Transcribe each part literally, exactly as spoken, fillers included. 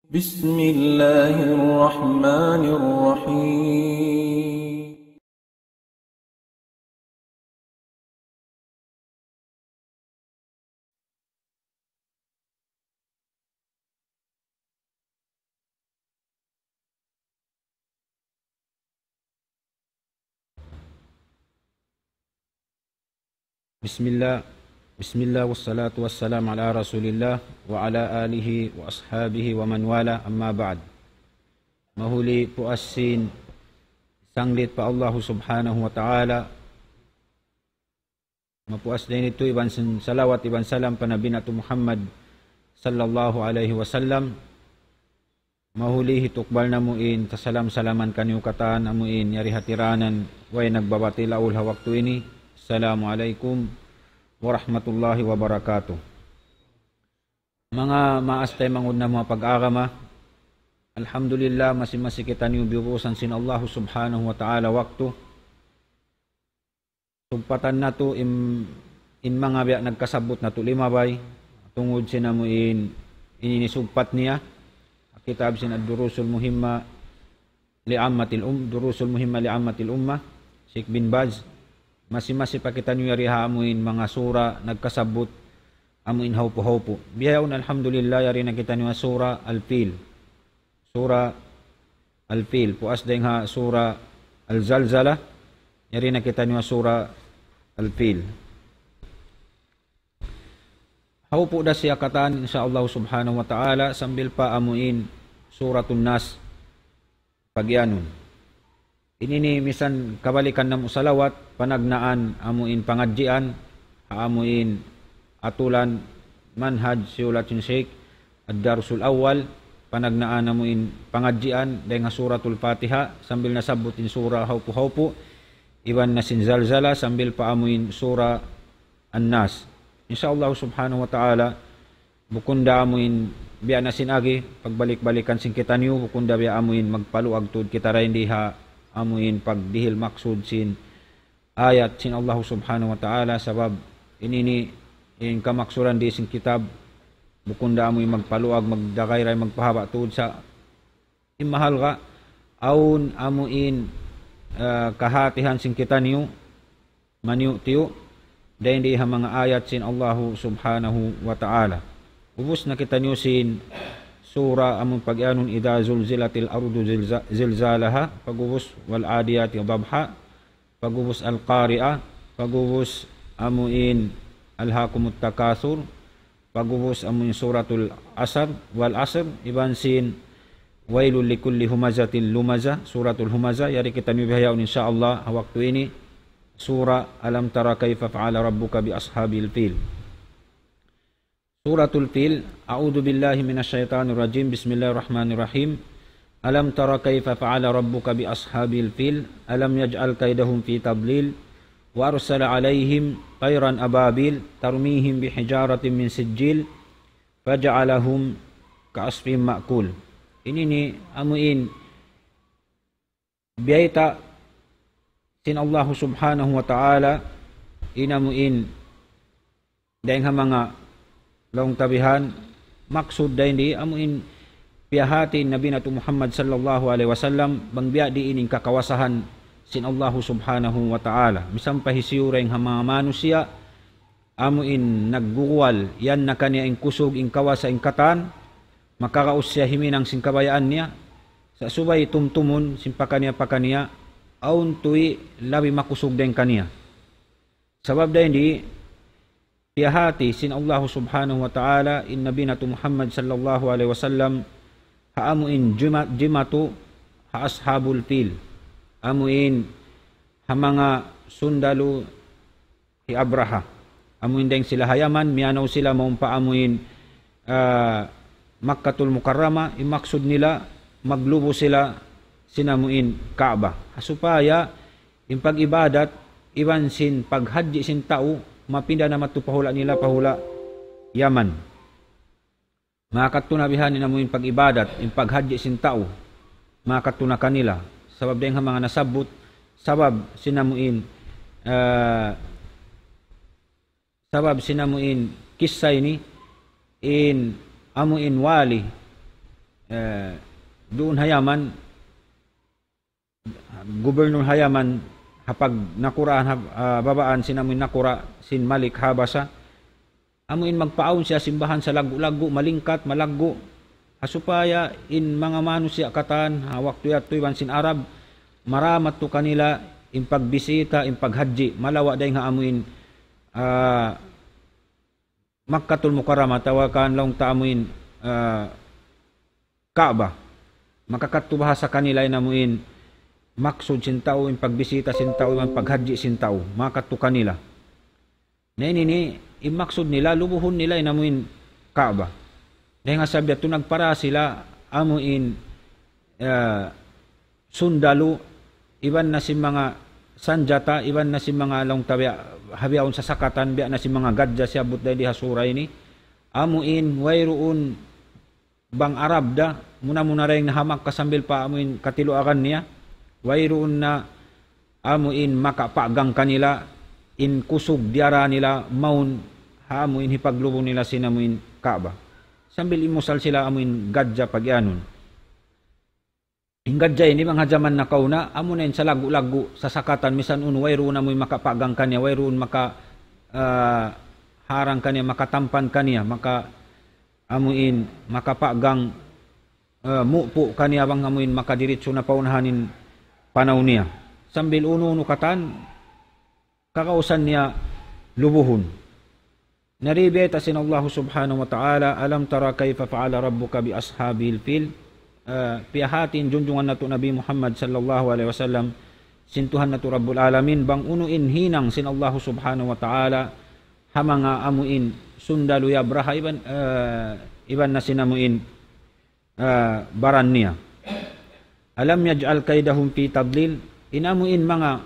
بسم الله الرحمن الرحيم. بسم الله، بسم الله والصلاة والسلام على رسول الله وعلى آله وأصحابه ومن والاه، أما بعد. Mahuli puas sin sanglit pa Allahu Subhanahu wa Ta'ala. Mapuas dayn ditu iban sin salawat iban salam pa Nabi natu' Muhammad sallallahu alayhi wasallam. Mahuli hitukbal namu' in kasalam-salaman kaniyu katan amu in yari hatiranan way nagbabatil aul ha waktu ini. Assalamu alaykum warahmatullahi wabarakatuh. Manga maas taymanghud namu' ha pag-agama, alhamdulillah, masi-masi kitaniyu biyubusan sin Allahu Subhanahu wa Ta'ala waktu. Sugpatan natu' in, in manga biya' nagkasabbut natu' limabay. Tungud sin amu in, in ini sugpat niya. Kitab sin Ad-Durusul Muhimma li Ammatil Um, Durusul Muhimma li Ammatil Ummah, Sheikh bin Baz. Masi-masi pa kitaniyu yari ha amu in manga sura nagkasabbut amu in hawpu-hawpu. Bihaun alhamdulillah yari na kitaniyu ha sura Al-Fil. Sura Al-Fil. Puas dayn ha sura Al-Zalzala, yari na kitaniyu ha sura Al-Fil. Hawpu da siya katan, insya Allah subhanahu wa ta'ala, sambil pa amu in Suratun Nas pagiyanun. Ini ini misan kabalikan namu' salawat, panagnaan amu in pangadjian, ha amu in atulan manhaj siyulat sin Sheikh, Ad-Darsul Awwal, panagnaan amu in pangadjian dayn ha Suratul Fatiha, sambil nasabbut in sura hawpu-hawpu, iban na sin Zalzala, sambil pa amu in sura An-Nas. Insya Allah subhanahu wa ta'ala, bukun da amu in biya' na sin agi, pagbalik-balikan sin kitaniyu, bukun da biya' amu in magpaluag tuud kita dayn di ha amu in pagdihil maksud sin ayat sin Allah subhanahu wa ta'ala, sabab in ini in kamaksuran di sin kitab, bukun da amu in magpaluag, magdagay dayn magpahaba' tuud sa in mahalga', awn amu in, ah, kahatihan sin kitaniyu, maniyu'-tiyu', dayn di ha manga ayat sin Allahu subhanahu wa ta'ala. Ubus na kitaniyu sin sura amu in pagiyanun إذا زلزلت الأرض زلزا-، زلزالها, pag'ubus والعاديات ضبحا, pag'ubus Al-Qari'ah, pag'ubus amu in ألهاكم التكاثر, pag'ubus amu in Suratul Asr, والعصر, iban sin ويل لكل همزة لمزة, Suratul Humazah, yari kitaniyu bihaun insya Allah ha waktu ini, sura ألم تر كيف فعل ربك بأصحاب الفيل. Suratul Fil, أعوذ بالله من الشيطان الرجيم، بسم الله الرحمن الرحيم. ألم تر كيف فعل ربك بأصحاب الفيل، ألم يجعل كيدهم في تضليل، وأرسل عليهم طيرا أبابيل، ترميهم بحجارة من سجيل، فجعلهم كعصف مأكول. Ini ini amu in biyayta' sin Allahu subhanahu wa ta'ala, in amu in dayn ha manga laung ta bihan, maksud dayn di amu in piyahati Nabi natu' Muhammad sallallahu alayhi wasallam, bang biya' diin in kakawasahan sin Allahu subhanahu wa ta'ala. Misan pa hisiyu dayn ha manga manusiya', amu in nagguguwal, yan na kaniya in kusug, in kawasa, in katan, makaraus siya himinang sin kabayaan niya, sa' subay tumtumun sin pakaniya-pakaniya, awn tuy labi makusug dayn kaniya. Sabab dayn di, piyahati sin Allahu subhanahu wa ta'ala, in Nabi natu' Muhammad sallallahu alayhi wasallam, ha amu in jima-, jimatu, ha Ashabul Fil, amu in ha manga sundalu hi Abraha. Amu in dayn sila ha Yaman, miyanaw sila mawn pa amu in, ah, Makkatul Mukarramah, in maksud nila, maglubu sila sin amu in Kaaba. Ha supaya in pag-ibadat, iban sin paghajji sin tau, mapinda na madtu pa hula' nila, pa hula' Yaman. Makadtu na bihan in amu in pag-ibadat, in paghajji sin tau. Makadtu na kanila. Sabab dayn ha manga nasabbut, sabab sin amu in, ah, sabab sin amu in kissa ini, in amu in wali, eh, duun ha Yaman, gubernur ha Yaman, ha pagnakuraan, ha, ah, babaan sin amuin nakura' sin Malik Habasha. Amuin magpaawn siya sin bahan salaggu'-laggu', malingkat, malaggu'. Ha supaya in manga manusiya' katan, ha waktu yadtu iban sin Arab, maramat tu kanila in pagbisita, in paghajji, malawa' dayn ha amuin, ah, Makkatul Mukarramah, atawa kan laung ta amuin, ah, Kaaba. Makakadtu baha' sa kanila in amuin maksud sin tau, in pagbisita sin tau, in paghajji sin tau. Makakadtu kanila. Na ini ini, in maksud nila, lubuhun nila in amuin Kaaba. Dayn ha sabab yadtu nagpara sila amuin, ah, sundalu, iban na sin manga sanjata, iban na sin manga laung ta biya', ha bihaun sasakatan, biya' na sin manga gadja siyabbut dayn di ha sura ini. Amuin wayruun bang Arab da, muna-muna dayn ha Makkah sambil pa amuin katiluagan niya, wayruun na amuin makapaagang kanila, in kusug diyara nila mawn ha amuin hipaglubu nila sin amuin Kaaba. Sambil imusal sila amuin gadja pagiyanun. In gadja ini bang ha jaman nakauna, amuna in salaggu'-laggu', sasakatan, misan unu, wayruun amuin makapaagang kaniya, wayruun maka, ah, harang kaniya, makatampan kaniya, maka, amuin, makapaagang, ah, mupu' kaniya bang amuin makadiritsu na pa unahan in panaw niya. Sambil unu-unu katan, kakausan niya lubuhun. Na di' biyayta' sin Allahu Subhanahu wa Ta'ala, ألم تر كيف فعل ربك بأصحاب الفيل. Ah, piyahāti in junjungan natu' Nabi Muhammad sallallahu alayhi wasallam, sin Tuhan natu' Rabbul Alamin, bang unu in hinang sin Allahu Subhanahu wa Ta'ala, ha manga amuin sundalu hi Abraha iban, ah, iban na sin amuin, ah, baran niya. ألم يجعل كيدهم في تضليل. In amuin manga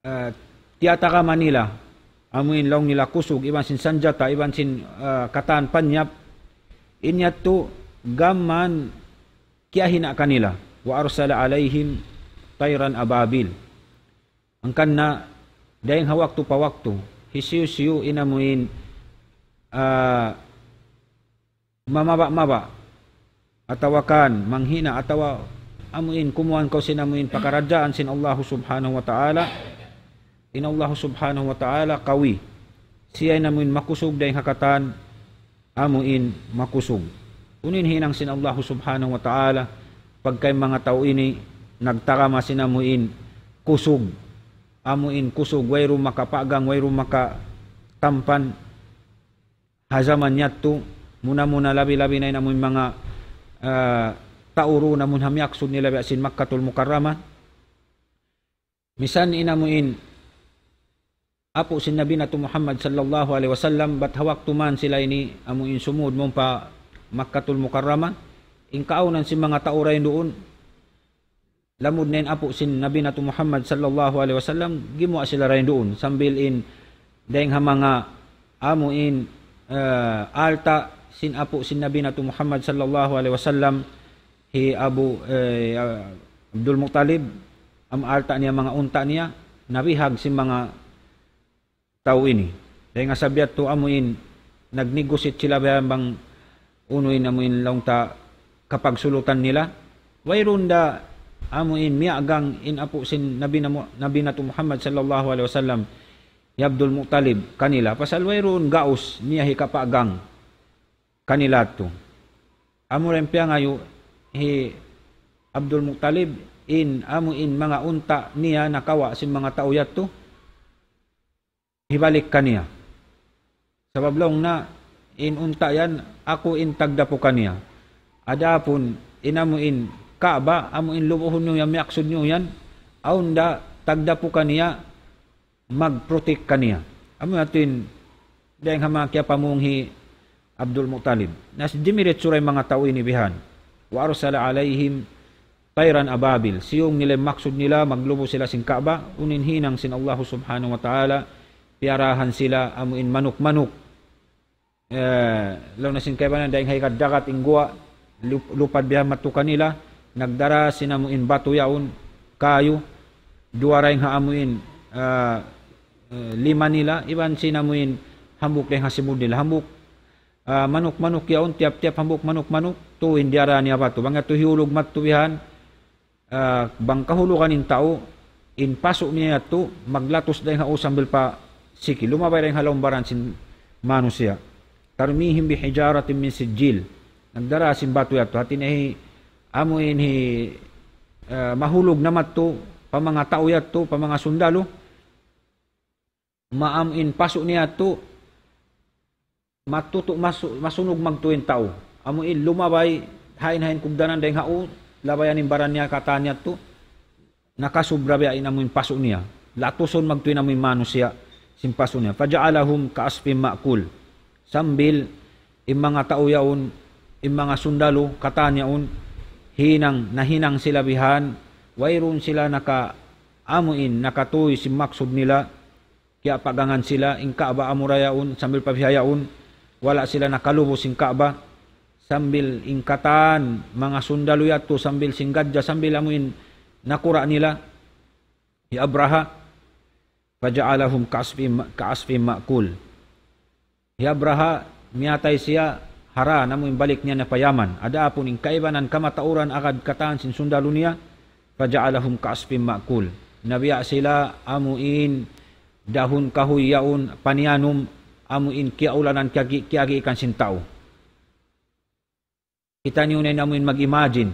ah, tiyatagama nila, amuin laung nila kusug, iban sin sanjata, iban sin, ah, katan panyap, in yadtu gām mayan kiyahina' kanila. وأرسل عليهم طيرا أبابيل. Hangkan na, dayn ha waktu pa waktu, hisiyu-siyu in amuin, ah, mamaba'-maba', atawa kan manghina', atawa amuin kumuan kaw sin amuin pakaradjaan sin Allahu Subhanahu wa Ta'ala, in Allahu Subhanahu wa Ta'ala kawi. Siya in amuin makusug dayn ha katan amuin makusug. Unu in hinang sin Allahu Subhanahu wa Ta'ala, pagka in manga tau ini nagtagama sin amuin kusug, amuin kusug, wayruun makapaagang, wayruun makatampan, ha jaman yadtu, muna-muna labi-labi na in amuin manga, ah, tau duun amun ha miyaksud nila biya' sin Makkatul Mukarramah. Misan in amuin apu' sin Nabi natu' Muhammad sallallahu alayhi wasallam, bat ha waktu mayan sila ini amuin sumūd mawn pa Makkatul Mukarramah, in kaawnan sin manga tau dayn duun, lamud na in apu' sin Nabi natu' Muhammad sallallahu alayhi wasallam, gimuwa' sila dayn duun, sambil in dayn ha manga amuin, eh, alta' sin apu' sin Nabi natu' Muhammad sallallahu alayhi wasallam, hi Abu, eh, Abdul Muttalib, amu alta' niya, manga unta' niya, nabihag sin manga tau ini. Dayn ha sabab yadtu amuin nagnegosyate sila biya' bang unu in amuin laung ta kapagsulutan nila. Wayruun da amuin miyagang in apu' sin Nabi namu-, Nabi natu' Muhammad sallallahu alayhi wasallam, hi Abdul Muttalib kanila. Pasal wayruun gaus niya hikapaagang kanila yadtu. Amu ra in piyangayu' hi Abdul Muttalib in amuin manga unta' niya nakawa' sin manga tau yadtu, hibalik kaniya. Sabab laung niya, in unta' yan, aku in tagdapu kaniya. Adapun in amuin Kaaba, amuin lubuhun niyu yan, miyaksud niyu yan, awn da tagdapu kaniya, mag-protect kaniya. Amu yadtu in dayn ha manga kiyapamung hi Abdul Muttalib. Na dimiritsu ra in manga tau ini bihan. وأرسل عليهم طيرا أبابيل. Siyung nila in maksud nila, maglubu sila sin Kaaba, unu in hinang sin Allahu Subhanahu wa Ta'ala, piyarahan sila amuin manuk-manuk. Eh, laung na sin kaibanan, dayn ha higad dagat in guwa', lup-, lupad bihan madtu kanila, nagdara sin amuin batu yaun, kayu, duwa dayn ha amuin, ah, eh, lima nila, iban sin amuin hambuuk dayn ha simud nila, hambuuk, ah, manuk-manuk yaun, tiyap-tiyap hambuuk manuk-manuk, tuud in diyara niya batu. Bang yadtu hiyulug madtu bihan, ah, bang kahulugan in tau, in pasu' niya yadtu, maglatus dayn ha u sambil pa siki. Lumabay dayn ha lawm baran sin manusiya'. ترميهم بحجارة من سجيل. Nagdara sin batu yadtu. Hati niya hi, amu in hi, ah, mahulug na madtu, pa manga tau yadtu, pa manga sundalu, maam in pasu' niya yadtu, matutu', masu-, masunug magtuy in tau. Amu in lumabay, hain-hain kugdanan dayn ha u, labayan in baran niya katan yadtu, nakasubra biya' in amu in pasu' niya. Latusun magtuy in amu in manusiya', sin pasu' niya. فجعلهم كعصف مأكول. Sambil in manga tau yaun, in manga sundalu, katan yaun, hinang, nahinang sila bihan, wayruun sila naka, amu in, nakatuy sin maksud nila, kiyapagangan sila, in Ka'bah amura yaun, sambil pa bihaun, wala' sila nakalubus sin Ka'bah, sambil in katan, manga sundalu yadtu, sambil sin gadja, sambil amu in nakura' nila, hi Abraha, فجعلهم كعصف م-، كعصف مأكول. Hi Abraha, miyatay siya, hara, na amu in balik niya na pa Yaman. Adapun in kaibanan kamatauran agad katan sin sundalu niya, فجعلهم كعصف مأكول. Nabiya' sila amu in dahun kahuy yaun paniyanum, amu in kiyaulanan kiyagi-, kiyagiikan sin tau. Kita' niyu na in amu in mag-imagine.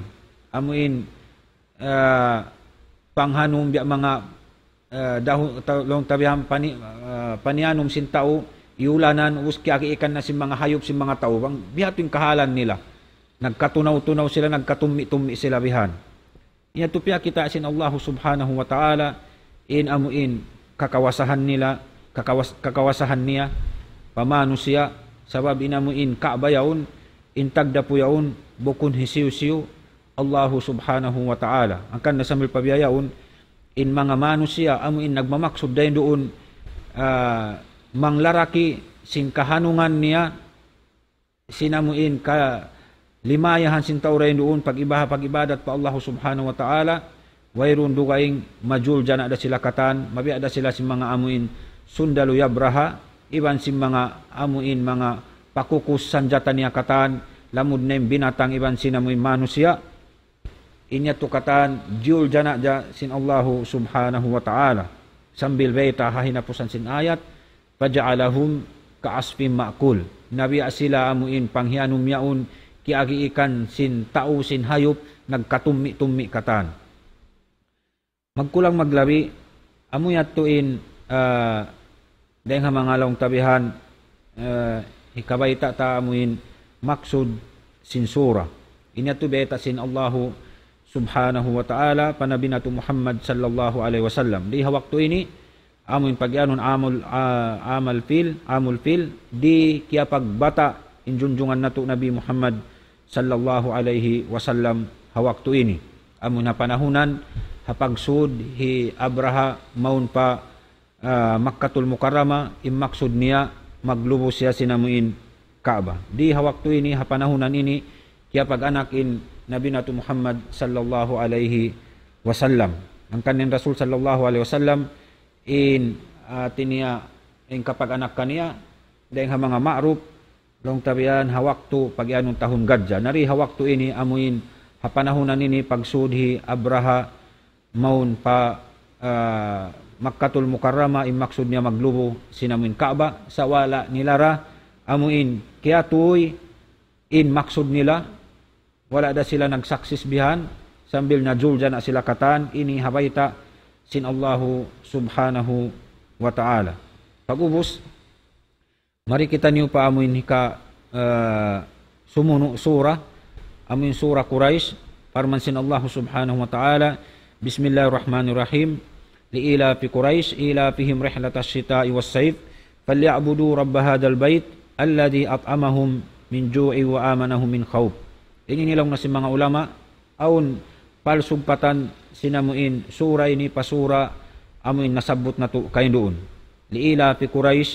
Amu in, ah, panghanum biya' manga, ah, dahun, ta-, laung ta bihan pani-, ah, paniyanum sin tau, iyulanan, ubus kiyagiikan na sin manga hayup, sin manga tau. Bang, biya' hādtu in kahalan nila. Nagkatunaw-tunaw sila, nagkatummi'-tummi' sila bihan. Yadtu piyakita' sin Allahu Subhanahu wa Ta'ala in amu in kakawasahan nila, kakawas-, kakawasahan niya pa manusiya', sabab in amu in Ka'bah yaun, in tagdapu yaun, bukun hisiyu-siyu, Allahu Subhanahu wa Ta'ala. Hangkan na sambil pa biya' yaun, in manga manusiya', amu in nagmamaksud dayn duun, ah, manglaraki sin kahanungan niya, sin amu in kalimayahan sin tau dayn duun pag-ibaha-, pag-ibadat pa Allahu Subhanahu wa Ta'ala, wayruun dugaing majuljana' da sila katan, mabiya' da sila sin manga amu in sundalu hi Abraha, iban sin manga amu in manga pakukus sanjata niya katan, lamud na in binatang iban sin amu in manusiya'. In yadtu katan, juljana' da sin Allahu Subhanahu wa Ta'ala. Sambil bayta' ha hinapusan sin ayat, فجعلهم كعصف مأكول. Nabiya' sila amu in panghiyanum yaun, kiyagiikan sin tau sin hayup, nagkatummi'-tummi' katan. Magkulang maglabi, amu yadtu in, ah, dayn ha manga laung ta bihan, ah, hikabayta' ta amu in maksud sin sura. In yadtu bayta' sin Allahu Subhanahu wa Ta'ala pa Nabi natu' Muhammad sallallahu alayhi wasallam. Di ha waktu ini, amu in pagiyanun amul, ah, amal fil, amul fil, di' kiyapagbata' in junjungan natu' Nabi Muhammad sallallahu alayhi wasallam ha waktu ini. Amu in ha panahunan, ha pagsud hi Abraha mawn pa, ah, Makkatul Mukarrama, in maksud niya maglubus siya sin amu in Ka'bah. Di ha waktu ini, ha panahunan ini, kiyapag-anak in Nabi natu' Muhammad sallallahu alayhi wasallam. Hangkan in Rasul sallallahu alayhi wasallam, in, ah, hati niya, in kapag-anak kaniya, dayn ha manga ma'ruf, laung ta bihan ha waktu pagiyanun tahun gadja. Na di ha waktu ini amu in ha panahunan ini pagsud hi Abraha mawn pa, ah, Makkatul Mukarrama, in maksud niya maglubu sin amu in Ka'bah, sa' wala' nilara amu in kiyatuy in maksud nila, wala' da sila nagsaksis bihan, sambil najuljana' sila katan, ini ha bayta' sin Allahu Subhanahu wa Ta'ala. Pag'ubus, mari kitaniyu pa amu in hika, eh, sumunu' sura, amu in sura Quraysh, parman sin Allahu Subhanahu wa Ta'ala, بسم الله الرحمن الرحيم. لإيلاف قريش إيلافهم رحلة الشتاء والصيف فليعبدوا رب هذا البيت الذي أطعمهم من جوع وآمنهم من خوف. Ini laung na sin manga ulama, awn palsugpatan sin amu in sura ini pa sura amu in nasabbut natu' kaina duun. لإيلاف قريش,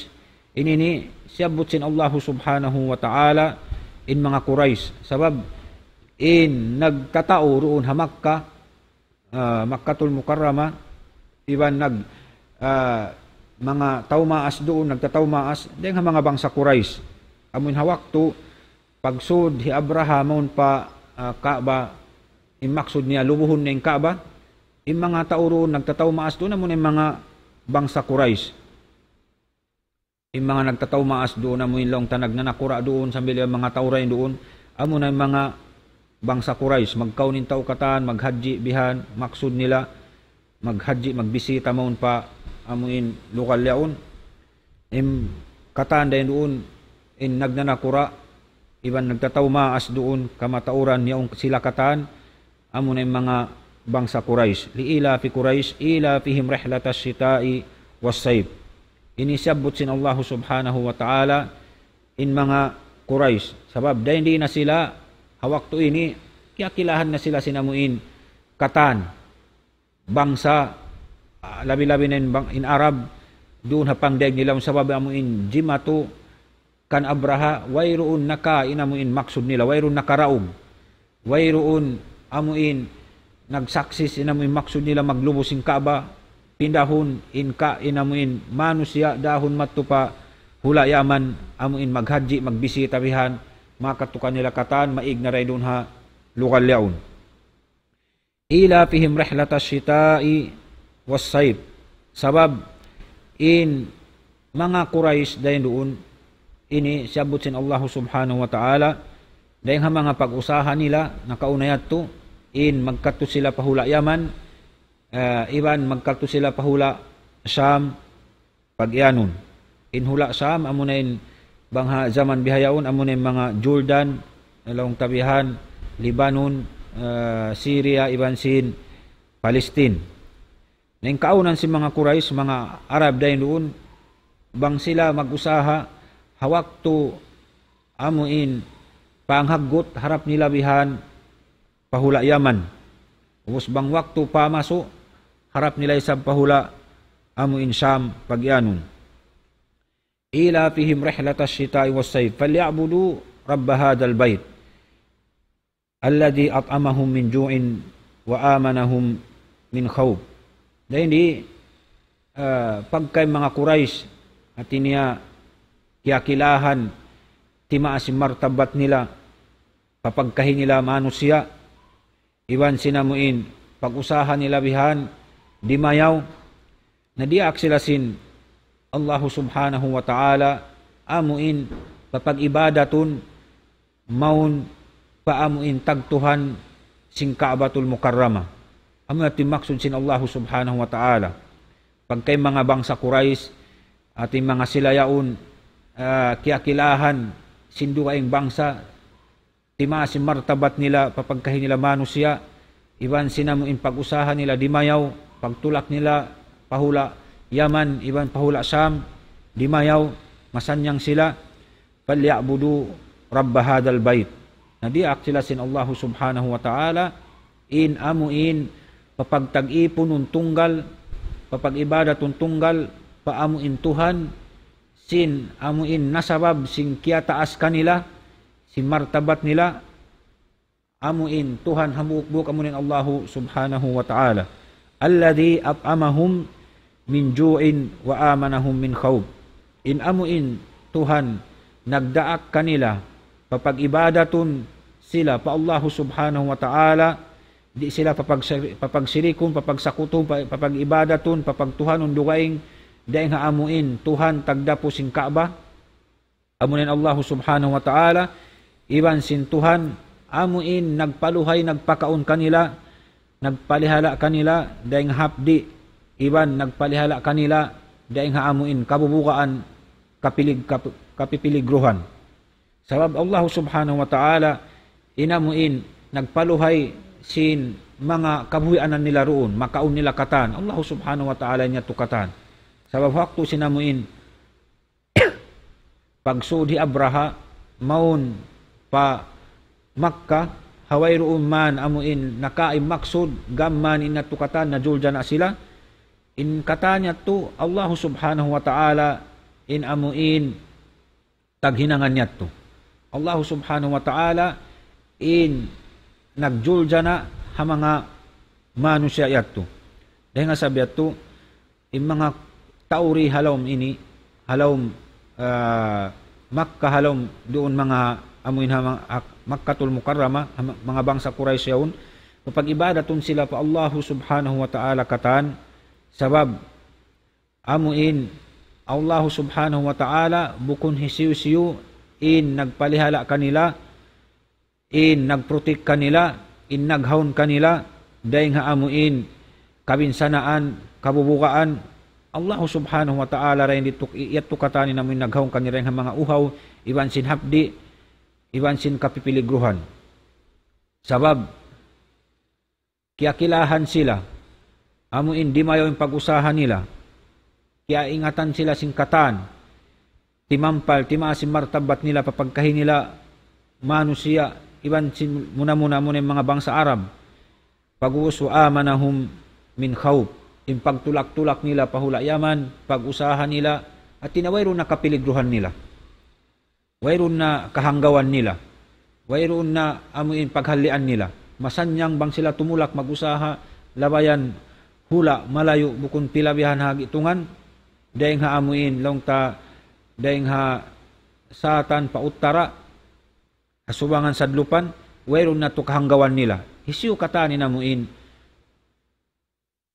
ini ini siyabbut sin Allahu Subhanahu wa Ta'ala in manga Quraysh. Sabab in nagtatau duun ha Makkah, ah, Makkatul Mukarrama, iban nag, ah, manga tau maas duun, nagtatau maas, dayn ha manga bangsa Quraysh. Amun ha waktu pagsud hi Abraha mawn pa, ah, Kaaba, in maksud niya lubuhun niya in Kaaba, in manga tau duun nagtatau maas duun, amun in manga bangsa Quraysh. In manga nagtatau maas duun, amun laung ta nagnanakura' duun, sambil in manga tau dayn duun, amun in manga bangsa Quraysh, magkaun in tau katan, maghajji bihan, maksud nila, maghajji, magbisita mawn pa amun lugal yaun. In katan dayn duun, in nagnanakura', iban nagtatau maas duun, kamatauran yaun sila katan, amun in manga bangsa Quraysh. لإيلاف قريش إيلافهم رحلة الشتاء والصيف. Ini siyabbut sin Allahu Subhanahu wa Ta'ala in manga Quraysh. Sabab dayn di na sila, ha waktu ini, kiyakilahan na sila sin amuin katan bangsa, ah, labi-labi na in bang-, in Arab, duun ha pangdaig nila, sabab amuin jimatu kan Abraha, wayruun naka in amuin maksud nila, wayruun nakaraug. Wayruun amuin nagsaksis in amuin maksud nila maglubu sin Kaaba, pindahun in ka in amuin manusiya' dahun madtu pa hula' Yaman, amuin maghajji, magbisita bihan, makadtu kanila katan, maig na dayn duun ha lugal yaun. إيلافهم رحلة الشتاء والصيف. Sabab in manga Quraysh dayn duun, ini siyabbut sin Allahu Subhanahu wa Ta'ala, dayn ha manga pag-usaha nila, nakauna yadtu, in magkadtu sila pa hula' Yaman, eh, iban magkadtu sila pa hula' Sham, pag-iyanun. In hula' Sham, amuna in bang ha jaman bihaun, amuna in manga Jordan, laung ta bihan, Lebanon, eh, Syria, iban sin Palestine. Na in kaawnan sin manga Quraysh, manga Arab dayn duun, bang sila mag-usaha, ha waktu amuin panghaggut harap nila bihan pa hula' Yaman. Ubus bang waktu pamasu', harap nila isab pa hula' amuin Sham pag-iyanun. إيلافهم رحلة الشتاء والصيف فليعبدوا رب هذا البيت الذي أطعمهم من جوع وآمنهم من خوف. Dayn di, ah, pagka in manga Quraysh, hati niya, kiyakilahan, timaas in martabat nila, pa pagkahi nila manusiya', iban sin amuin pag-usaha nila bihan dimayaw, na diyaak sila sin Allahu Subhanahu wa Ta'ala, amuin papag-ibadatun mawn pa amuin tagtuhan sin Ka'batul Mukarramah. Amu yadtu in maksud sin Allahu Subhanahu wa Ta'ala. Pagka in manga bangsa Quraysh, hati manga sila yaun, ah, kiyakilahan sin dugaing bangsa, timaas in martabat nila, pa pagkahi nila manusiya', iban sin amuin pag-usaha nila dimayaw, pagtulak nila pa hula' Yaman, iban pa hula' Sham, dimayaw, masannyang sila, فليعبدوا رب هذا البيت. Na diyaak sila sin Allahu Subhanahu wa Ta'ala, in amuin papagtag-ipunun tunggal, papag-ibadatun tunggal, pa amuin Tuhan, sin amuin nasabab sin kiyataas kanila, sin martabat nila, amuin Tuhan hambuuk-buuk amuin Allahu Subhanahu wa Ta'ala. الذي أطعمهم من جوع وآمنهم من خوف. In amuin Tuhan nagdaak kanila, papag-ibadatun sila pa Allahu Subhanahu wa Ta'ala, di' sila papag-, papagsirikun, papagsakutun, pa-, papag-ibadatun, papagtuhanun dugaing, dayn ha amuin Tuhan tagdapu sin Ka'bah, amuna in Allahu Subhanahu wa Ta'ala, iban sin Tuhan, amuin nagpaluhay, nagpakaun kanila, nagpalihala' kanila, dayn ha hapdi', iban nagpalihala' kanila, dayn ha amuin kabubugaan, kapilig-, kap-, kapipiligruhan. Sabab Allahu Subhanahu wa Ta'ala, in amuin nagpaluhay sin manga kabuhianan nila duun, makaun nila katan. Allahu Subhanahu wa Ta'ala niya tu katan. Sabab waktu sin amuin pagsud hi Abraha, mawn pa Makkah, ha wayruun man amuin nakain maksud, gam man in yadtu katan, najuljana sila. In katan yadtu, Allahu Subhanahu wa Ta'ala, in amuin taghinangan yadtu. Allahu Subhanahu wa Ta'ala, in nagjuljana ha manga manusiya' yadtu. Dayn ha sabab yadtu, in manga tau di ha lawm ini, ha lawm, ah, Makkah ha lawm duun manga amuin ha manga, ha Makkatul Mukarramah, ha ma-, manga bangsa Quraysh yaun, papag-ibadatun sila pa Allahu Subhanahu wa Ta'ala katan, sabab amuin Allahu Subhanahu wa Ta'ala bukun hisiyu-siyu in nagpalihala kanila, in nagprotect kanila, in naghawn kanila, dayng ha amuin kabinsanaan, kabubugaan, Allahu Subhanahu wa Ta'ala dayn ditu, i-, yadtu katan in amuin naghawn kanila dayng ha manga uhaw, iban sin hapdi', iban sin kapipiligruhan. Sabab, kiyakilahan sila, amuin dimayaw in pag-usaha nila, kiyaingatan sila sin katan, timampal, timaas in martabat nila, pa pagkahi nila manusiya', iban sin muna-muna, muna in manga bangsa Arab. Pag'ubus, وآمنهم من خوف. In pagtulak-tulak nila pa hula' Yaman, pag-usaha nila, hāti niya wayruun na kapiligruhan nila. Wayruun na kahanggawan nila. Wayruun na amuin paghallian nila. Masannyang bang sila tumulak mag-usaha, labayan hula' malayu' bukun pila bihan ha gi'tungan, dayng ha amuin, laung ta, dayng ha satan pa uttara, ha subangan sadlupan, wayruun na tu kahanggawan nila. Hisiyu katan in amuin,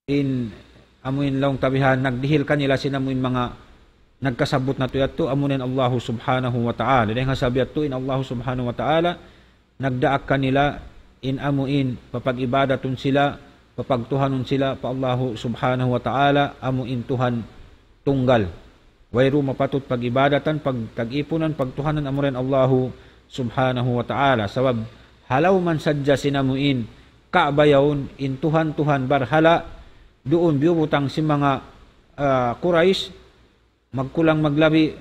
in amuin laung ta bihan, nagdihil kanila sin amuin manga nagkasabbut natu' yadtu, amuna in Allahu Subhanahu wa Ta'ala. Dayng ha sabab yadtu in Allahu Subhanahu wa Ta'ala, nagdaak kanila in amuin, papag-ibadatun sila, papagtuhanun sila pa Allahu Subhanahu wa Ta'ala, amuin Tuhan tunggal. Wayruun mapatut pag-ibadatan, pagtag-ipunan, pagtuhanan amura in Allahu Subhanahu wa Ta'ala. Sabab, ha lawm man sadja sin amuin Ka'bah yaun, in tuhan-tuhan barhala', duun biyubutang sin manga, ah, Quraysh, magkulang maglabi,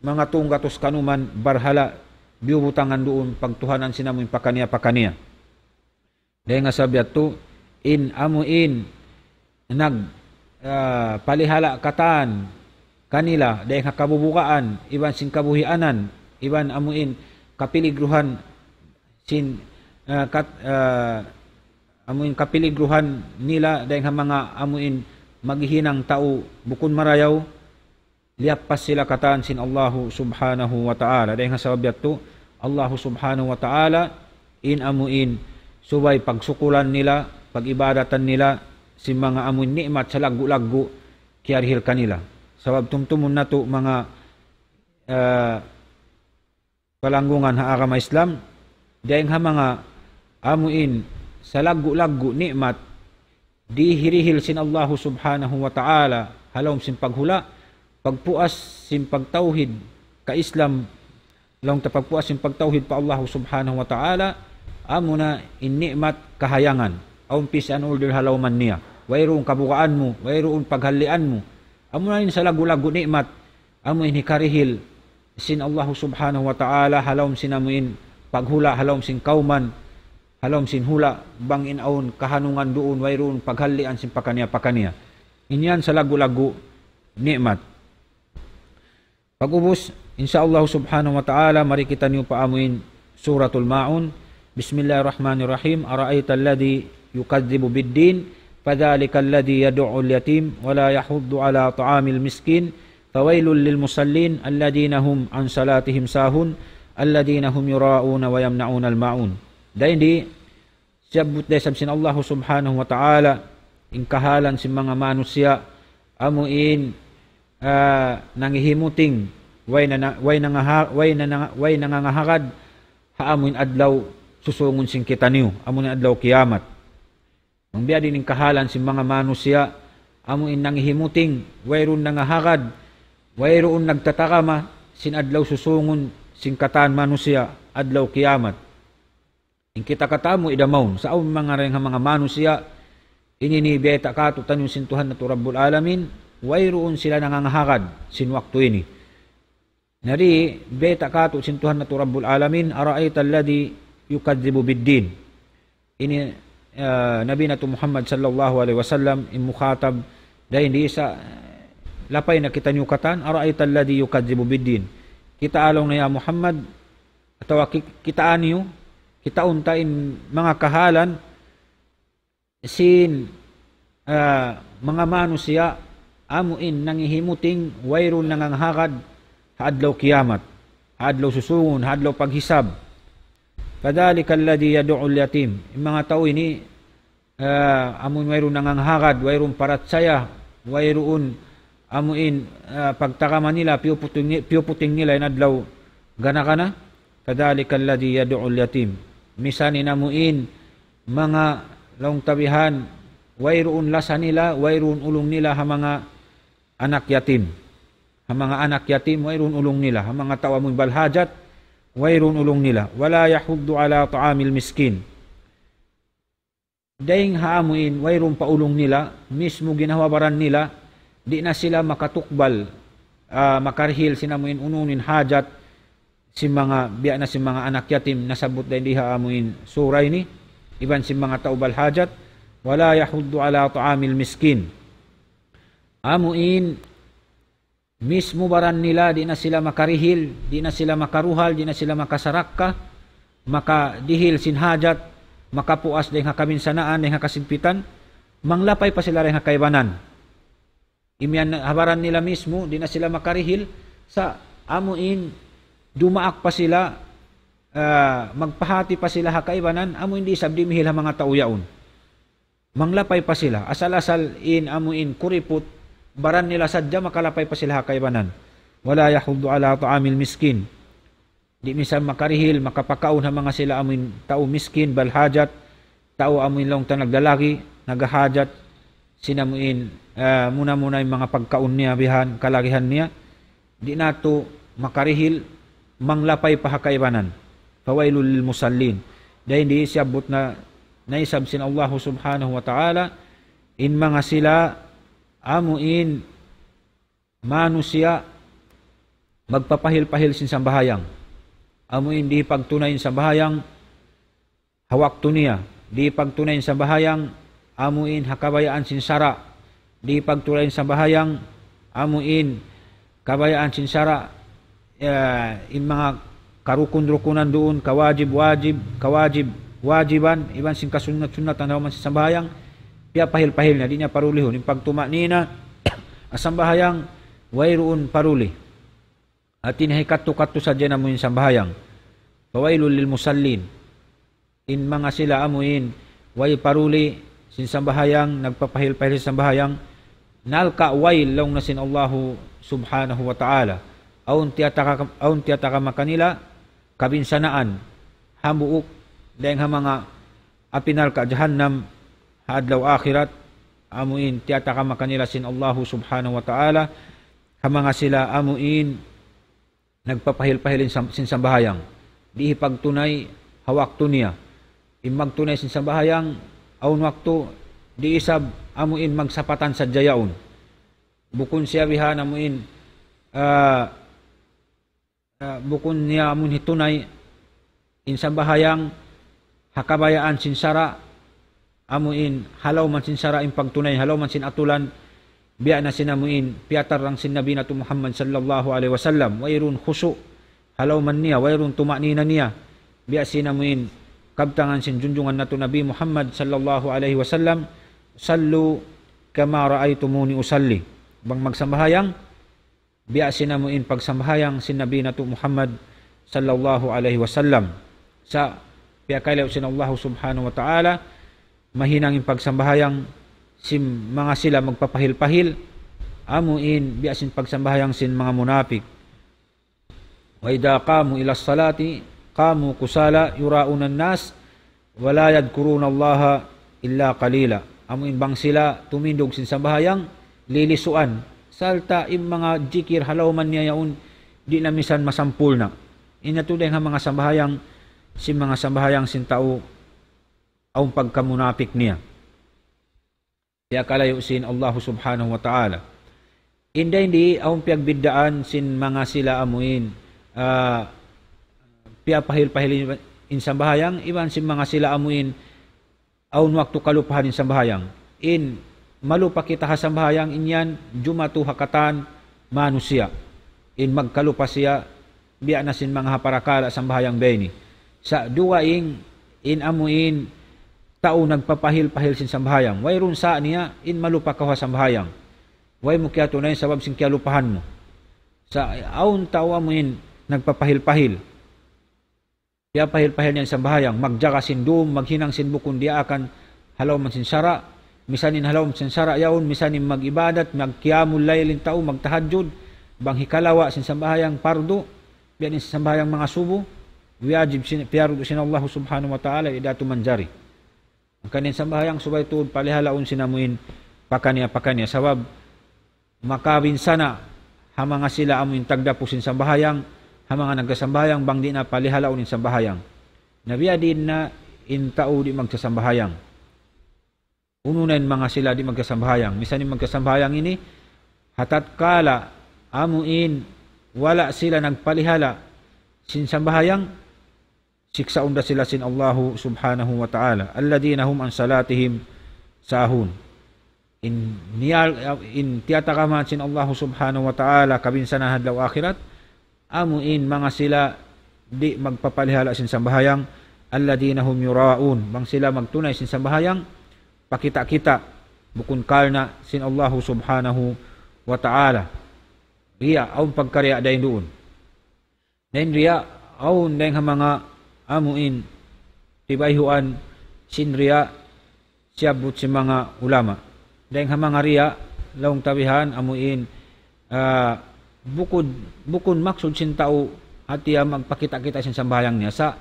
manga tū gatus kanuman barhala', biyubutangan duun, pagtuhanan sin amuin pakaniya-pakaniya. Dayng ha sabab yadtu, in amuin nag, ah, palihala' katan kanila, dayng ha kabubugaan, iban sin kabuhianan, iban amuin kapiligruhan sin, ah, kat-, ah, amuin kapiligruhan nila, dayng ha manga amuin maghihinang tau bukun marayaw, liyappas sila katan sin Allahu Subhanahu wa Ta'ala. Dayng ha sabab yadtu, Allahu Subhanahu wa Ta'ala, in amuin, subay pagsukulan nila, pag-ibadatan nila, sin manga amuin ni'mat salaggu'-laggu', kiyarihil kanila. Sabab tumtumun natu' manga, ah, palanggungan ha agama Islam, dayng ha manga amuin salaggu'-laggu' ni'mat, dihirihil sin Allahu Subhanahu wa Ta'ala, ha lawm sin paghula', pagpuas sin pagtawhid, ka-Islam, laung ta pagpuas sin pagtawhid pa Allahu Subhanahu wa Ta'ala, amuna in ni'mat kahayangan, awn peace and order ha lawman niya, wayruun kabugaan mu, wayruun paghallian mu, amuna in salaggu'-laggu' ni'mat, amuin hikarihil sin Allahu Subhanahu wa Ta'ala, ha lawm sin amuin paghula', ha lawm sin kawman, ha lawm sin hula', bang in awn kahanungan duun, wayruun paghallian sin pakaniya-pakaniya. In yan salaggu'-laggu' ni'mat. Pag'ubus, insya Allah Subhanahu wa Ta'ala, mari kitaniyu pa amuin Suratul Ma'un. بسم الله الرحمن الرحيم. أرأيت الذي يكذب بالدين فذلك الذي يدع اليتيم ولا يحض على طعام المسكين فويل للمصلين الذين هم عن صلاتهم ساهون الذين هم يراءون ويمنعون الماعون. Dayn di, siyabbut da isab sin Allahu Subhanahu wa Ta'ala in kahalan sin manga manusiya', amuin, ah, nangihimuting, way na, na, way nangaha-, way na, na, way nangangahagad, ha amuin adlaw susungun sin kitaniyu, amuin adlaw kiyamat. Bang biya' diin in kahalan sin manga manusiya', amuin nangihimuting, wayruun nangahagad, wayruun nagtatarama, sin adlaw susungun sin katan manusiya', adlaw kiyamat. In kita katan amu in da mawn, sa' awn manga dayng ha manga manusiya', ini in bayta' kātu'niyu sin Tuhan natu' Rabbul Alamin, wayruun sila nangangahagad sin waktu ini. Na di, bayta' kātu' sin Tuhan natu' Rabbul Alamin, أرأيت الذي يكذب بالدين. Ini, ah, Nabi natu' Muhammad sallallahu alayhi wasallam, in mukhatab, dayn di sa', lapay na kitaniyu katan, أرأيت الذي يكذب بالدين. Kitaa laung niya ya Muhammad, atawa ki-, kitaa niyu, kitaun ta in manga kahalan sin, ah, manga manusiya', amuin nangihimuting wayruun nangangahagad ha adlaw kiyamat. Ha adlaw susungun, adlaw paghisab. فذلك الذي يدع اليتيم. In manga tau ini, ah, amun wayruun nangangahagad, wayruun parachaya, wayruun amuin, ah, pagtagama nila, piyuputing, piyuputing nila in adlaw gana-gana. فذلك الذي يدع اليتيم. Misan in amuin manga laung ta bihan, wayruun lasa nila, wayruun ulung nila ha manga anak yatim. Ha manga anak yatim, wayruun ulung nila. Ha manga tau amun balhajat, wayruun ulung nila. ولا يحض على طعام المسكين. Dayng ha amuin, wayruun pa ulung nila, mismu ginhawa-baran nila, di' na sila makatukbal, ah, makarihil sin amuin unu-unu in hajat, sin manga, biya' na sin manga anak yatim, nasabbut dayng di ha amuin sura ini, iban sin manga tau balhajat, ولا يحض على طعام المسكين. Amuin, mismu baran nila, di' na sila makarihil, di' na sila makaruhal, di' na sila makasarakka, makadihil sin hajat, makapuas dayng ha kabinsanaan, dayng ha kasigpitan, manglapay pa sila dayng ha kaibanan. Imiyan ha baran nila mismu, di' na sila makarihil, sa' amuin dumaak pa sila, ah, magpahati pa sila ha kaibanan, amuin di' isab dimihil ha manga tau yaun. Manglapay pa sila. Asal-asal in amuin kuriput, baran nila sadja makalapay pa sila ha kaibanan. ولا يحض على طعام المسكين. Di' minsan makarihil, makapakaun ha manga sila amuin tau miskin, balhajat, tau amuin laung ta naglalagi, nagahajat, sin amuin, ah, muna-muna in manga pagkaun niya, bihan, kalagihan niya. Di' natu' makarihil, manglapay pa ha kaibanan. فويل للمصلين. Dayng di siyabbut na, naisab sin Allahu Subhanahu wa Ta'ala, in manga sila amuin manusiya' magpapahil-pahil sin sambahayang. Amuin di' pagtunay in sambahayang, ha waktu niya, di' pagtunay in sambahayang, amuin ha kabayaan sin sara', di' pagtunay in sambahayang, amuin kabayaan sin sara', ya, in manga karukun-rukunan duun, kawajib-wajib, kawajib-wajiban, iban sin kasunnat-sunnatan ha lawm sin sambahayang, piyapahil-pahil niya, di' niya parulihun, in pagtumanina', ha sambahayang, wayruun paruli. Hati niya hikattu-kattu sadja in amuin sambahayang. فويل للمصلين. In manga sila amuin, way paruli sin sambahayang, nagpapahil-pahil sin sambahayang, nalka' wayl laung na sin Allahu Subhanahu wa Ta'ala. Awn tiyataka-, awn tiyatagama kanila, kabinsanaan, hambuuk, dayng ha manga api narka' jahannam, ha adlaw akhirat, amuin tiyatagama kanila sin Allahu Subhanahu wa Ta'ala, ha manga sila amuin, nagpapahil-pahil in sam-, sin sambahayang. Di' hipagtunay ha waktu niya. In magtunay sin sambahayang, awn waktu, di' isab amuin magsapatan sadja yaun. Bukun siya bihan amuin, ah, ah, bukun niya amuin hitunay, in sambahayang, ha kabayaan sin sara', amuin ha lawm sin sara' in pagtunay, ha lawm sin atulan, biya' na sin amuin piyatarrang sin Nabi natu' Muhammad sallallahu alayhi wasallam, wayruun khushu', ha lawm niya, wayruun tumanina niya, biya' sin amuin kabtangan sin junjungan natu' Nabi Muhammad sallallahu alayhi wasallam, صلوا كما رأيتموني أصلي. Bang magsambahayang, biya' sin amuin pagsambahayang sin Nabi natu' Muhammad sallallahu alayhi wasallam. Sa' piyakalayu' sin Allah Subhanahu wa Ta'ala, mahinang in pagsambahayang sin manga sila magpapahil-pahil, amuin biya' sin pagsambahayang sin manga munapik. وإذا قاموا إلى الصلاة قاموا كسالى يراءون الناس ولا يذكرون الله إلا قليلا. Amuin bang sila tumindug sin sambahayang, lilisuan. Sarta' in manga jikir ha lawm niya yaun, di' na minsan masampurna'. Ini tuud in manga sambahayang, sin manga sambahayang sin tau, awn pagkamunapik niya. Piyakalayu' sin Allah Subhanahu wa Ta'ala. Inda ini awn piyagbiddaan sin manga sila amuin, ah, piyapahil-pahil in sambahayang, iban sin manga sila amuin, awn waktu kalupahan in sambahayang. In malupa kita ha sambahayang, in yan jumatu ha katan manusiya'. In magkalupa siya, biya' na sin manga ha parakala' sambahayang biya' ini. Sa' dugaing, in amuin, tau nagpapahil-pahil sin sambahayang. Wayruun sa' niya, in malupa kaw ha sambahayang. Way mu kiyatunay sabab sin kiyalupahan mu. Sa' awn tau amuin, nagpapahil-pahil. Piyapahil-pahil niya in sambahayang, magjaga sin dum, maghinang sin bukun diyaakan ha lawm sin sara', misan in ha lawm sin sara' yaun, misan in mag-ibadat, magqiyamul layl in tau, magtahajjud, bang hikalawa' sin sambahayang pardu, biya' diin sin sambahayang manga subu, wajib sin, piyardu sin Allah subhanahu wa ta'ala, di' da tuud manjari. Hangkan in sambahayang subay tuud palihalaun sin amuin pakaniya-pakaniya. Sabab makabinsana' ha manga sila amuin tagdapu sin sambahayang, ha manga nagsasambahayang bang di' na palihalaun in sambahayang. Na biya' diin na in tau di' magsasambahayang. Unu na in manga sila di' magsasambahayang. Misan in magsasambahayang ini, ha tatkala amuin wala' sila nagpalihala sin sambahayang, siksaun da sila sin Allahu subhanahu wa ta'ala. الذين هم عن صلاتهم ساهون. In niyal-, in tiyatakaman sin Allahu subhanahu wa ta'ala kabinsanaan ha adlaw akhirat, amuin manga sila di' magpapalihala sin sambahayang, الذين هم يراءون, bang sila magtunay sin sambahayang, pakita'-kita', bukun karna' sin Allahu subhanahu wa ta'ala. Riya', awn pagkariya' dayn duun. Na in riya', awn dayng ha manga amuin tibayhuan sin riya' siyabbut sin manga ulama. Dayng ha manga riya', laung ta bihan amuin, ah, bukun, bukun maksud sin tau hati niya magpakita'-kita' sin sambahayang niya. Sa'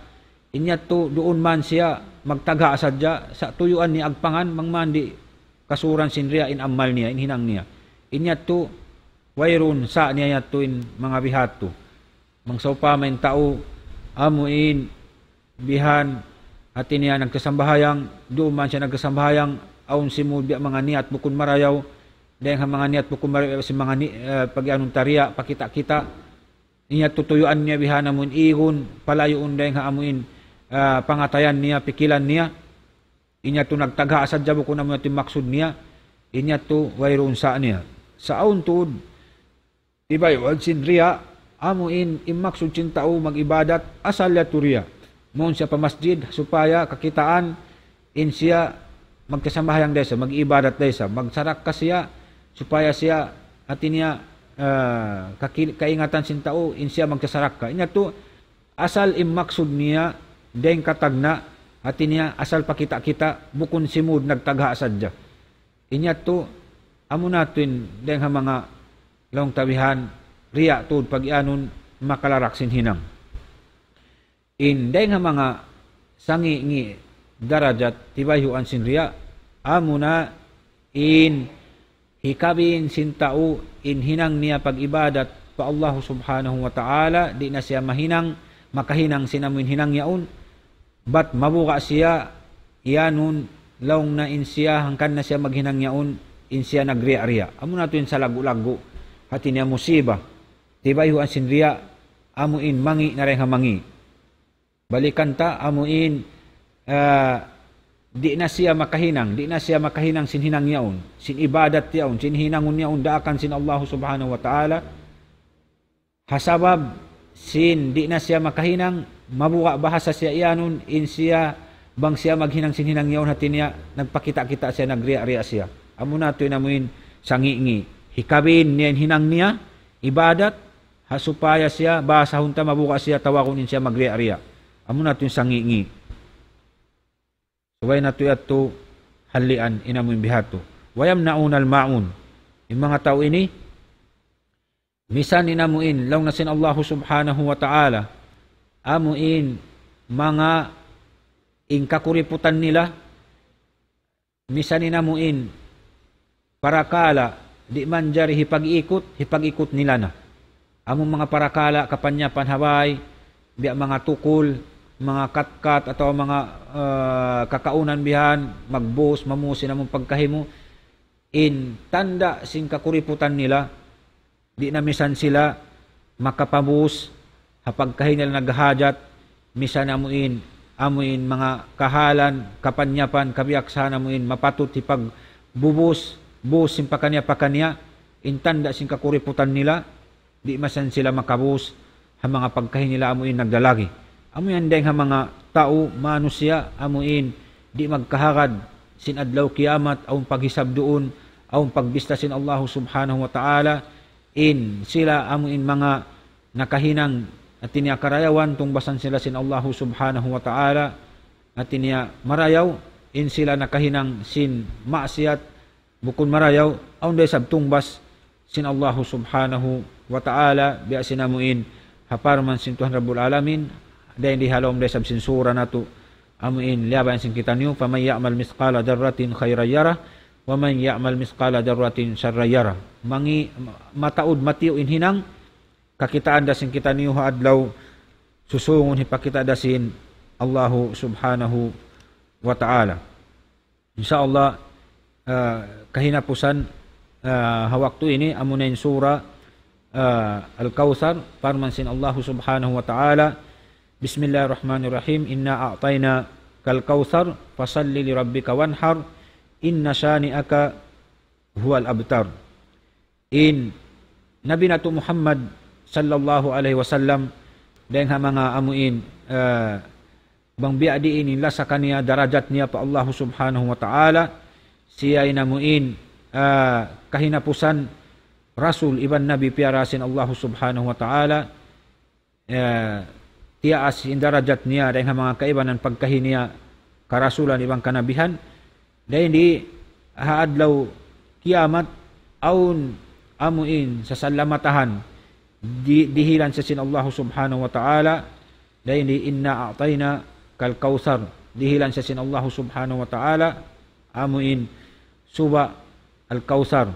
in yadtu duun man siya magtagha' sadja, sa' tuyuan niya agpangan, bang man di' kasuran sin riya' in amal niya, in hinang niya. In yadtu, wayruun sa' niya yadtu in manga bihadtu. Bang sawpama in tau, amuin, bihan, hati niya nagkasambahayang, duun man siya nagkasambahayang, awn simud biya' manga niyat bukun marayaw, dayng ha manga niyat bukun marayaw, sin manga ni-, eh, pag-anun ta riya', pakita'-kita', in yadtu tuyuan niya bihan amuin igun, palayuun dayng ha amuin, ah, pangatayan niya, pikilan niya, in yadtu nagtagha' sadja bukun amu yadtu in maksud niya, in yadtu wayruun sa' niya. Sa' awn tuud, tibayhuan sin riya', amuin, in maksud sin tau mag-ibadat, asal yadtu riya'. Mawn siya pa masjid, supaya kakitaan, in siya magkasambahayang da isab, mag-ibadat da isab, magsarakka siya, supaya siya, hati niya, eh, kaki-, kaingatan sin tau, in siya magsarakka. In yadtu, asal in maksud niya, dayng katagna', hati niya, asal pakita'-kita', bukun simud nagtagha' sadja. In yadtu, amu na tuud in dayng ha manga laung ta bihan, riya' tuud pag-iyanun makalarak sin hinang. In dayng ha manga sangi'-ngi' darajat tibayhuan sin riya', amu na in hikabin sin tau in hinang niya pag-ibadat pa Allah subhanahu wa ta'ala, di' na siya mahinang, makahinang sin amuin hinang yaun, bat mabuga' siya, iyanun, laung na in siya, hangkan na siya maghinang yaun, in siya nagriya'-riya'. Amu na tuud in salaggu'-laggu', hati niya musiba. Tibayhuan sin riya', amuin mangi' na dayng ha mangi'. Balikan ta, amuin, ah, di' na siya makahinang, di' na siya makahinang sin hinang yaun, sin ibadat yaun, sin hinangun yaun, daakan sin Allah subhanahu wa ta'ala. Ha sabab sin di' na siya makahinang, mabuga' bahasa siya iyanun, in siya, bang siya maghinang sin hinang yaun hati niya, nagpakita'-kita' siya, nagriya'-riya' siya. Amu na tuud in amuin sangi'-ngi'. Hikabin niya in hinang niya, ibadat, ha supaya siya, bahasahun ta mabuga' siya tawagun in siya magriya'-riya'. Amu na tuud in sangi'-ngi'. Subay natu' yadtu hallian in amuin bihadtu. ويمنعون الماعون. In manga tau ini, misan in amuin, laung na sin Allahu subhanahu wa ta'ala, amuin manga in kakuriputan nila, misan in amuin parakala' di' manjari hipag-ikut, hipag-ikut nila na. Amu manga parakala' kapanyapan ha bay, biya' manga tukul, manga katkat, atawa manga, eh, kakaunan bihan, magbus, mamusin amu pagkahi mu, in tanda' sin kakuriputan nila, di' na misan sila makapabus ha pagkahi nila naghahajat, misan amuin, amuin manga kahalan, kapanyapan, kabiyaksahan amuin mapatut hipagbubus, bus sin pakaniya-pakaniya, in tanda' sin kakuriputan nila, di' misan sila makabus ha manga pagkahi nila amuin naglalagi. Amu yan dayng ha manga tau, manusiya', amuin di' magkahagad sin adlaw kiyamat, awn paghisab duun, awn pagbista sin Allahu subhanahu wa ta'ala, in sila amuin manga nakahinang Hati niya karayawan tungbasan sila sin Allahu Subhanahu wa Ta'ala. Hati niya marayaw in sila nakahinang sin maksiat, bukun marayaw, awn da isab tungbas sin Allahu Subhanahu wa Ta'ala, biya' sin amuin ha parman sin Tuhan Rabbul Alamin, dayn di ha lawm da isab sin sura natu', amuin liyabayan sin kitaniyu, فمن يعمل مثقال ذرة خيرا يره ومن يعمل مثقال ذرة شرا يره. Mangi-, mataud matiyu' in hinang, kakitaan da sin kitaniyu ha adlaw susungun hipakita' da sin Allahu Subhanahu wa Ta'ala. Insya Allah, ah, kahinapusan, ah, ha waktu ini, amuna in sura, ah, Al-Kawthar, parman sin Allahu Subhanahu wa Ta'ala, بسم الله الرحمن الرحيم إنا أعطيناك الكوثر فصل لربك وانحر إن شانئك هو الأبتر. In Nabi natu' Muhammad sallallahu alayhi wasallam, dayng ha manga amuin, ah, bang biya' diin in lasa kaniya darajat niya pa Allahu Subhanahu wa Ta'ala, siya in amuin, ah, kahinapusan rasul iban nabi piyara sin Allahu Subhanahu wa Ta'ala, eh, tiyaas in darajat niya dayng ha manga kaibanan pagkahi niya karasulan iban kanabihan. Dayn di ha adlaw kiyamat, awn amuin sasalamatahan, di-, dihilan siya sin Allahu Subhanahu wa Ta'ala, dayn di إنا أعطيناك الكوثر, dihilan siya sin Allahu Subhanahu wa Ta'ala, amuin suba' Al-Kawthar,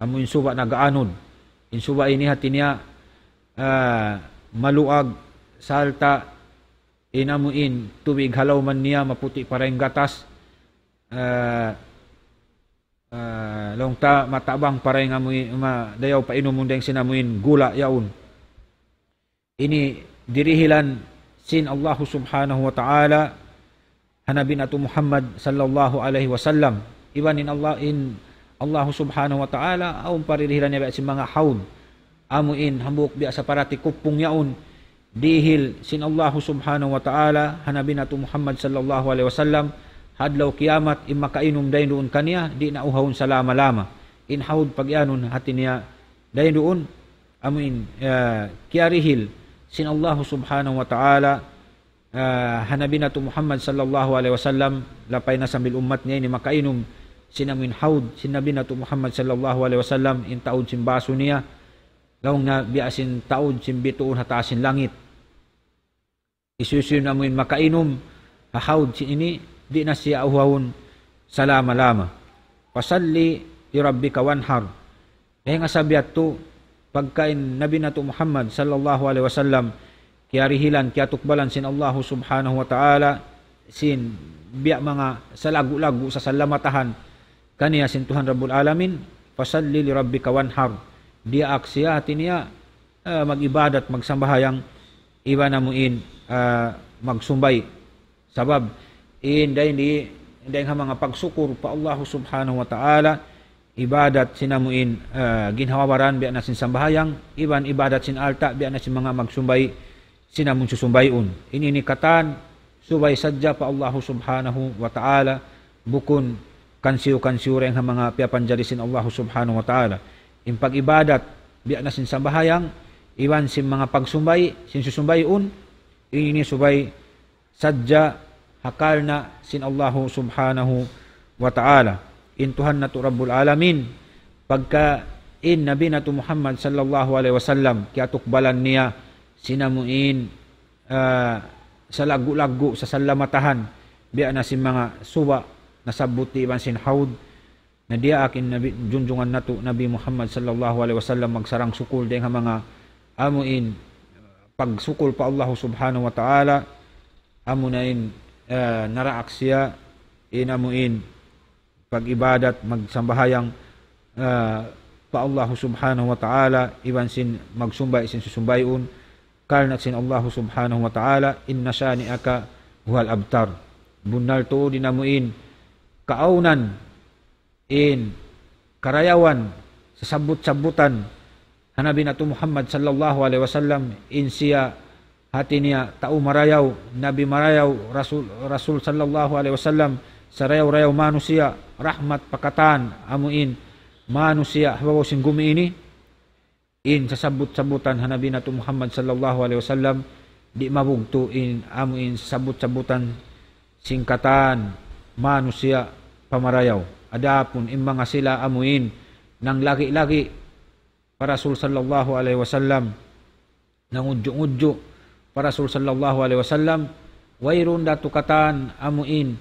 amuin suba' nag-aanud. In suba' ini hati niya, ah, maluag, sarta' in amuin tubig ha lawman niya maputi' pa dayn gatas, ah, ah, laung ta matabang pa dayn amuin, ma-, dayaw painumun dayng sin amuin gula' yaun. Ini dirihilan sin Allahu Subhanahu wa Ta'ala ha Nabi natu' Muhammad sallallahu alayhi wasallam. Iban in Allah, in Allahu Subhanahu wa Ta'ala, awn pa dirihilan niya biya' sin manga hawd. Amuin hambuuk biya' sa parati kupung yaun. Dihil sin Allahu Subhanahu wa Ta'ala ha Nabi natu' Muhammad sallallahu alayhi wasallam, ha adlaw kiyamat, in makainum dayn duun kaniya, di' na uhawun salama-lama. In hawd pagiyanun hati niya dayn duun, amuin, eh, kiyarihil sin Allahu Subhanahu wa Ta'ala, eh, ha Nabi natu' Muhammad sallallahu alayhi wasallam, lapay na sambil ummat niya ini makainum sin amuin hawd sin Nabi natu' Muhammad sallallahu alayhi wasallam, in taud sin basu niya, laung niya biya' sin taud sin bituun ha taas sin langit. Hisiyu-siyu na amuin makainum ha hawd sin ini, di' na siya uhawun salama-lama. فصل لربك وانحر. Dayng ha sabab yadtu, pagka in Nabi natu' Muhammad sallallahu alayhi wasallam, kiyarihilan, kiyatukbalan sin Allahu Subhanahu wa Ta'ala, sin biya' manga salaggu'-laggu' sasalamatahan kaniya sin Tuhan Rabbul Alamin, فصل لربك وانحر. Diyaak siya hati niya, ah, mag-ibadat, magsambahayang, iban amuin, ah, magsumbay. Sabab, in dayn di, dayn ha manga pagsukur pa Allahu Subhanahu wa Ta'ala, ibadat sin amuin, ah, ginhawa-baran biya' na sin sambahayang, iban ibadat sin alta' biya' na sin manga magsumbay, sin amun susumbayun. Ini, ini katan, subay sadja pa Allahu Subhanahu wa Ta'ala, bukun kansiyu-kansiyu dayng ha manga piyapanjari sin Allahu Subhanahu wa Ta'ala. In pag-ibadat, biya' na sin sambahayang, iban sin manga pagsumbay, sin susumbayun, ini subay sadja ha karna' sin Allahu Subhanahu wa Ta'ala. In Tuhan natu' Rabbul Alamin, pagka in Nabi natu' Muhammad sallallahu alayhi wasallam, kiyatukbalan niya sin amuin, ah, salaggu'-laggu' sasalamatahan, biya' na sin manga suba' nasabbut iban sin hawd, na diyaak in Nabi, junjungan natu' Nabi Muhammad sallallahu alayhi wasallam magsarang-sukul dayng ha manga amuin pagsukul pa Allahu Subhanahu wa Ta'ala, amuna in, eh, naraak siya, in amuin pag-ibadat, magsambahayang, eh, pa Allahu Subhanahu wa Ta'ala, iban sin magsumbay, sin susumbayun, karna' sin Allahu Subhanahu wa Ta'ala, إن شانئك هو الأبتر. Bunnal tuud in amuin kaawnan in karayawan, sasabbut-sabbutan ha Nabi natu' Muhammad sallallahu alayhi wasallam, in siya hati niya tau marayaw, nabi marayaw, rasul, rasul sallallahu alayhi wasallam, sarayaw-rayaw manusiya', rahmat pa katan amuin manusiya' ha babaw sin gumi ini. in sasabbut-sabbutan ha Nabi natu' Muhammad sallallahu alayhi wasallam, di' mabugtu' in amu in sasabbut-sabbutan sin katan manusiya' pamarayaw. Adapun in manga sila amu in nanglagi-lagi pa Rasul sallallahu alayhi wasallam, nangudju'-ngudju' pa Rasul sallallahu alayhi wasallam, wayruun da tu katan amu in,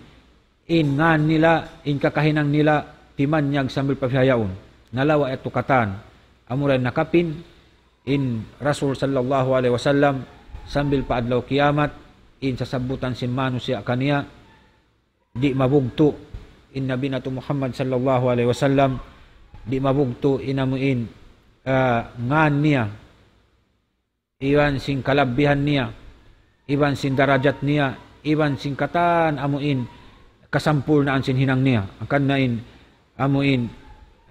in ngan nila, in kakahinang nila, timanyag sambil pa bihaun. Nalawa' yadtu katan. Amura in nakapin, in Rasul sallallahu alayhi wasallam, sambil pa adlaw kiyamat, in sasabbutan sin manusiya' kaniya, di' mabugtu', in Nabi natu' Muhammad sallallahu alayhi wasallam, di' mabugtu' in amu in, ah, ngan niya, iban sin kalabbihan niya, iban sin darajat niya, iban sin katan amu in kasampurnaan sin hinang niya. Hangkan na in amu in,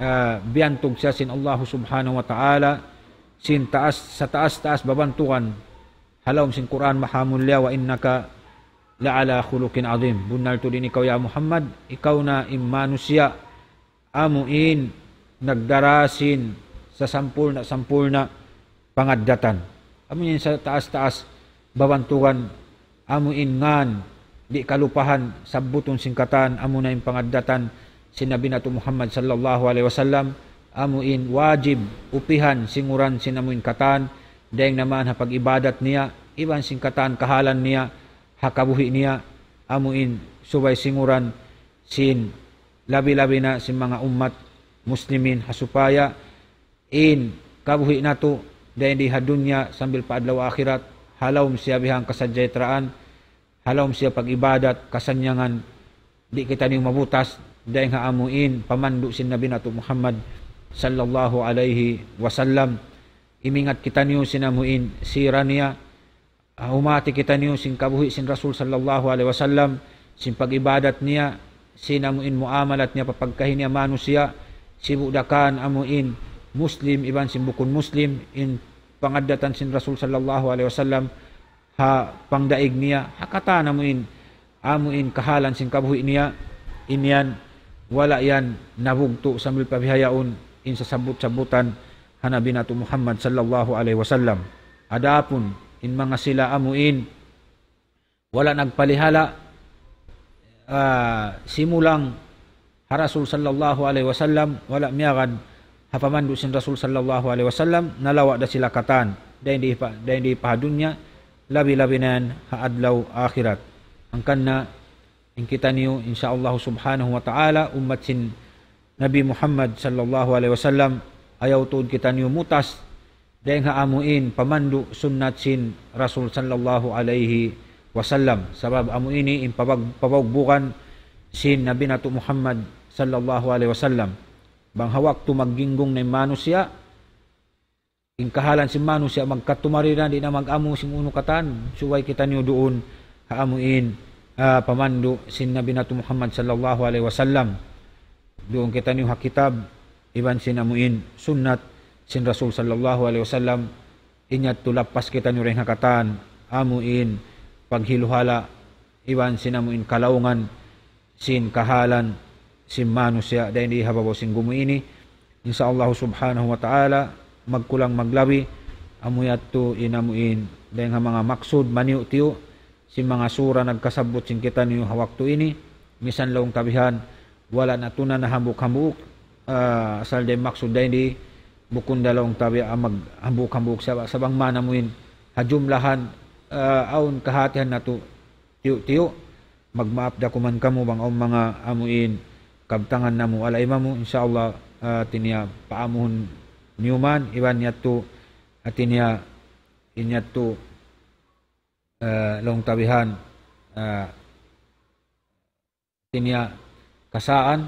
ah, biyantug siya sin Allah subhanahu wa ta'ala, sin taas, sataas-taas babantugan, ha lawm sin Qur'an mahamulliya, وإنك لعلى خلق عظيم. Bunnal tuud in ikaw ya Muhammad, ikaw na in manusiya' amu in nagdara sin sasampurna'-sampurna' pangaddatan. Amu in sataas-taas babantugan, amu in ngan, di' kalupahan, sabbutun sin katan, amu na in pangaddatan sin Nabi natu' Muhammad sallallahu alayhi wasallam, amu in wajib, upihan, singuran sin amu in katan, dayng naman ha pag-ibadat niya, iban sin katan kahalan niya, ha kabuhi' niya, amu in subay singuran sin labi-labi na sin manga ummat muslimin ha supaya in kabuhi' natu' dayng di ha dunya sambil pa adlaw akhirat, ha lawm siya bihan kasajahtraan, ha lawm siya pag-ibadat, kasannyangan, di' kitaniyu mabutas, dayng ha amu in pamandu' sin Nabi natu' Muhammad sallallahu alayhi wasallam. Imingat kitaniyu sin amu in sira niya, ah, humati kitaniyu sin kabuhi' sin Rasul sallallahu alayhi wasallam, sin pag-ibadat niya, sin amu in muamalat niya pa pagkahi niya manusiya', sibu' da kan amu in Muslim, iban sin bukun Muslim, in pangaddatan sin Rasul sallallahu alayhi wasallam, ha pangdaig niya, ha katan amu in, amu in kahalan sin kabuhi' niya, in yan, wala' yan nabugtu' sambil pa bihaun, in sasabbut-sabbutan, ha Nabi natu' Muhammad sallallahu alayhi wasallam. Adapun, in manga sila amu in, wala' nagpalihala', ah, simulang ha Rasul sallallahu alayhi wasallam, wala' miyagad ha pamandu' sin Rasul sallallahu alayhi wasallam, nalawa' da sila katan, dayng di pa, dayng di pa ha dunya, labi-labi na yan ha adlaw akhirat. Hangkan na, in kitaniyu, insya Allah subhanahu wa ta'ala, ummat sin Nabi Muhammad sallallahu alayhi wasallam, ayaw tuud kitaniyu mutas, dayng ha amu in pamandu' sunnat sin Rasul sallallahu alayhi wasallam. Sabab amu ini in pabag-, pabugbugan sin Nabi natu' Muhammad sallallahu alayhi wasallam. Bang ha waktu magginggung na in manusiya', in kahalan sin manusiya' magkatumari na, di' na mag-amu sin unu katan, subay kitaniyu duun ha amu in, ah, pamandu' sin Nabi natu' Muhammad sallallahu alayhi wasallam. Duun kitaniyu ha kitab, iban sin amu in sunnat sin Rasul sallallahu alayhi wasallam, in yadtu lappas kitaniyu dayng ha katan, amu in paghiluhala', iban sin amu in kalaungan, sin kahalan sin manusiya' dayng di ha babaw sin gumuy ini. Insya Allah subhanahu wa ta'ala, magkulang maglabi, amu yadtu in amu in, dayng ha manga maksud, maniyu'-tiyu', sin manga sura nagkasabbut sin kitaniyu ha waktu ini, misan laung ta bihan, wala' natu' na nahambuuk-hambuuk, ah, asal dayng maksud dayng di, bukun da laung ta bihan maghambuuk-hambuuk sa-, sabab man amu in, ha jumlahan, ah, awn kahatihan natu', tiyu'-tiyu', magmaap da kuman kamu bang awn manga amu in kabtangan namu' wala' imamu, insya Allah, ah, hati niya paamuhun niyu man, iban yadtu, hati niya in yadtu, ah, laung ta bihan, ah, hati niya kasaan,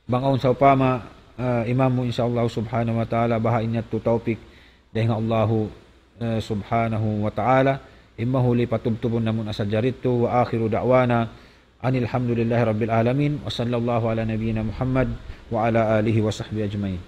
bang awn sawpama, ah, imamu, insya Allah subhanahu wa ta'ala, baha' in yadtu tawpik dayng ha Allahu, eh, subhanahu wa ta'ala. In mahuli patubtubun namu' na sadja yadtu. وآخر دعوانا أن الحمد لله رب العالمين. وصلى الله على نبينا محمد وعلى آله وصحبه أجمعين.